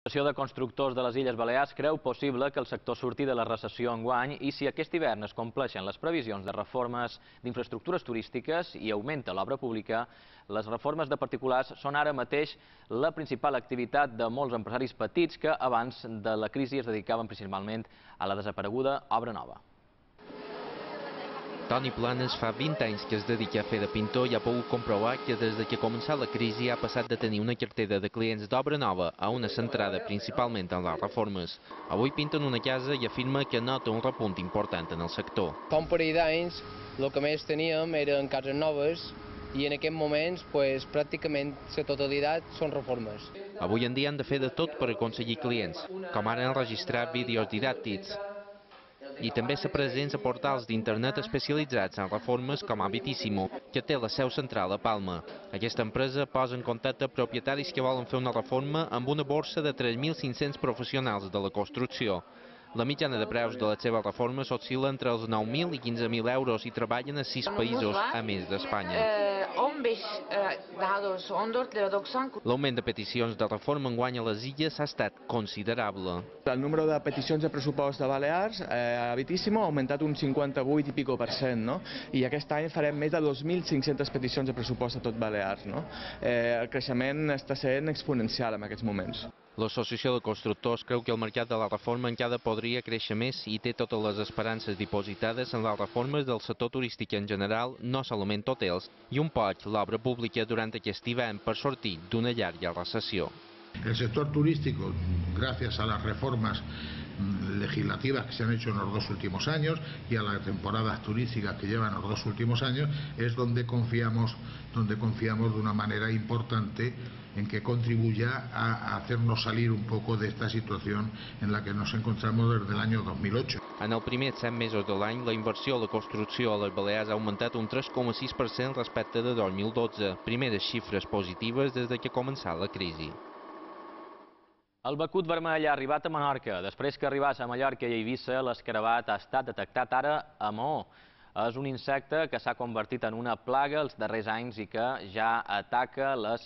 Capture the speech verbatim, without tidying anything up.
L'Associació de Constructors de les Illes Balears creu possible que el sector surti de la recessió enguany i si aquest hivern es compleixen les previsions de reformes d'infraestructures turístiques i augmenta l'obra pública, les reformes de particulars són ara mateix la principal activitat de molts empresaris petits que abans de la crisi es dedicaven principalment a la desapareguda obra nova. Toni Planes fa vint anys que es dedica a fer de pintor i ha pogut comprovar que des de que ha començat la crisi ha passat de tenir una cartera de clients d'obra nova a una centrada principalment en les reformes. Avui pinta en una casa i afirma que nota un repunt important en el sector. Fa un parell d'anys el que més teníem eren cases noves i en aquests moments pues, pràcticament la totalitat són reformes. Avui en dia han de fer de tot per aconseguir clients, com ara enregistrar vídeos didàctics. I també ser presents a portals d'internet especialitzats en reformes com Habitissimo, que té la seu central a Palma. Aquesta empresa posa en contacte propietaris que volen fer una reforma amb una borsa de tres mil cinc-cents professionals de la construcció. La mitjana de preus de les seves reformes oscil·la entre els nou mil i quinze mil euros i treballen a sis països, a més d'Espanya. L'augment de peticions de reforma enguany a les illes ha estat considerable. El número de peticions de pressupost de Balears a Habitissimo ha augmentat un cinquanta-vuit i pico per cent, no? I aquest any farem més de dos mil cinc-centes peticions de pressupost a tot Balears, no? Eh, el creixement està sent exponencial en aquests moments. L'Associació de Constructors creu que el mercat de la reforma encara podria créixer més i té totes les esperances dipositades en les reformes del sector turístic en general, no solament hotels, i un poc l'obra pública durant aquest hivern per sortir d'una llarga recessió. El sector turístico, gracias a las reformas legislativas que se han hecho en los dos últimos años y a las temporadas turísticas que llevan los dos últimos años, es donde confiamos, donde confiamos de una manera importante en que contribuya a hacernos salir un poco de esta situación en la que nos encontramos desde el año dos mil ocho. En els primers set mesos de l'any, la inversió a la construcció a les Balears ha augmentat un tres coma sis per cent respecte de dos mil dotze, primeres xifres positives des de que ha començat la crisi. El becut vermell ha arribat a Menorca. Després que arribés a Mallorca i a Eivissa, l'escarabat ha estat detectat ara a Maó. És un insecte que s'ha convertit en una plaga els darrers anys i que ja ataca les